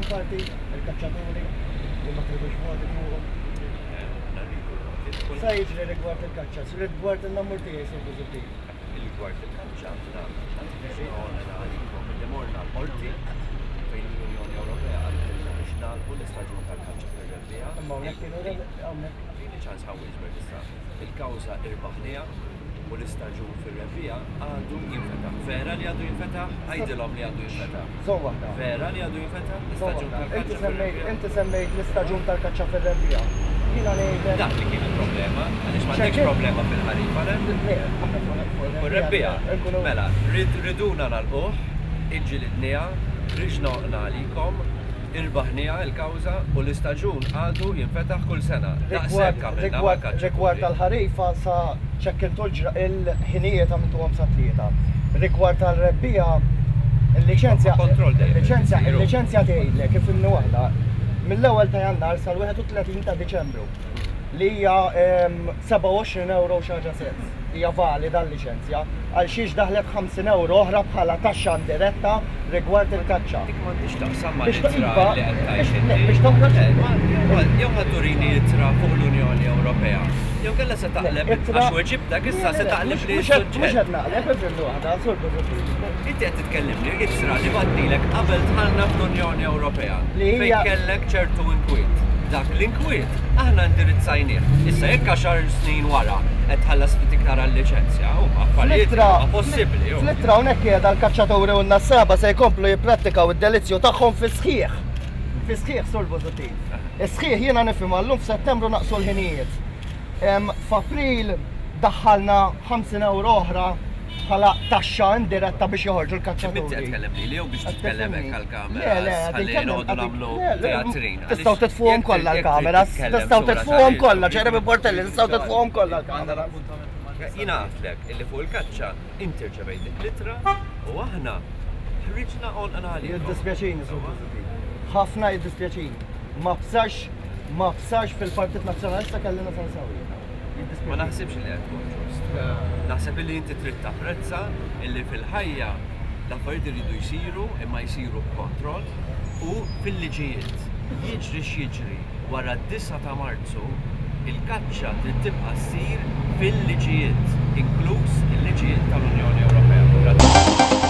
parti, il-kaċċaturi li ma tridux voti fuqhom. Sa jiġri rigward il-kaċċa, rigward in-namur tiegħi Sur Busuttil. Rigward il-kaċċa, aħna għalikom li morna l-qorti fejn l-Unjoni Ewropea qaltilna biex nagħlqu l-istaġun tal-kaċċa fir-rebbiegħa. Imma hawnhekk kienu hawnhekk. Tini ċans ħa wieġbek issa. Il-kawża irbaħniha u l-istaġun fir-rebbiegħa għadu jinfetaħ. Vera li għadu jinfetaħ? Għidilhom li għadu jinfetaħ. Żomm waħda. Vera li għadu jinfetaħ l-istaġun tal-kaċċa fir-rebbiegħa? Inti semmejt l-istaġun tal-kaċċa fir-rebbiegħa. Jiena ngħidlek. Dak li kien il-problema, għaliex m'għandekx problema fil-ħarifa, le? Le, aħna fuq ir-rebbiegħa. Mela, riduna nagħlquh, iġġilidniha, ħriġna għoqna għalikom, Irbaħniha l-kawża u l-istaġun għadu jinfetaħ kull sena. Daqshekk għamilna mal-kaċċaturi. Rigward tal-ħarifa sa ċekkintu l-ħinijiet għamiltuhom sat-tlieta. Rigward tal-rebbiegħa, il-liċenzja il-liċenzja il-liċenzja tgħidlek, ifhimni waħda, mill-ewwel ta' Jannar sal-31 ta' Diċembru li hija 27 ewro u xi ħaġa sens. Hija valida l-liċenzja. Għal xiex daħlet 50 ewro oħra bħala taxxa indiretta rigward il-kaċċa. Dik m'għandhiex x'taqsam mal-ittra li qed tgħid inti. Biex toħroġ. Jew ħa turini ittra fuq l-Unjoni Ewropea. Jew kellha se taqleb għax weġibtek issa se taqleb li suġġett. Mhux qed naqleb, ifhimni waħda, Sur Busuttil. Inti qed titkellimni ittra li bgħattilek qabel dħalna fl-Unjoni Ewropea fejn kellek ċertu inkwiet. Dak l-inkwiet aħna indirizzajnieh. Issa jekk għaxar snin wara qed tħallas ftit iktar għal-liċenzja, huma affarijiet li huma possibbli. Fl-ittra hawnhekk qiegħda l-kaċċaturi u n-nassaba se jkomplu jipprattikaw id-delizzju tagħhom fis-sħiħ. Fis-sħiħ, Sur Busuttil. Is-sħiħ jiena nifhimha llum f'Settembru naqsu l-ħinijiet. F'April daħħalna 50 ewro oħra bħala taxxa indiretta biex joħorġu l-kaċċaturi. Inti qed tkellem lili jew biex titkellem hekk għall-kameras? Le, le, ħalli noqogħdu nagħmlu teatrin. Tistgħu titfuhom kollha l-kameras, tistgħu titfuhom kollha, Jeremy Portelli, tistgħu titfuhom kollha l-kameras. Jiena għedtlek illi fuq il-kaċċa inti rċevejt dik l-ittra u aħna ħriġna għonqna għalikom. Jiddispjaċini, Sur Busuttil. Ħafna jiddispjaċini. Ma bsarx, ma bsarx fil-Partit Nazzjonalista kelli nasal sew jiena. Ma naħsibx li qed tkun ġust. Naħseb illi inti trid tapprezza illi fil-ħajja l-affarijiet iridu jsiru imma jsiru b'kontroll u fil-liġijiet. Jiġri x'jiġri wara d-disgħa ta' Marzu, il-kaċċa trid tibqa' ssir fil-liġijiet, inkluż il-liġijiet tal-Unjoni Ewropea. Grazzi.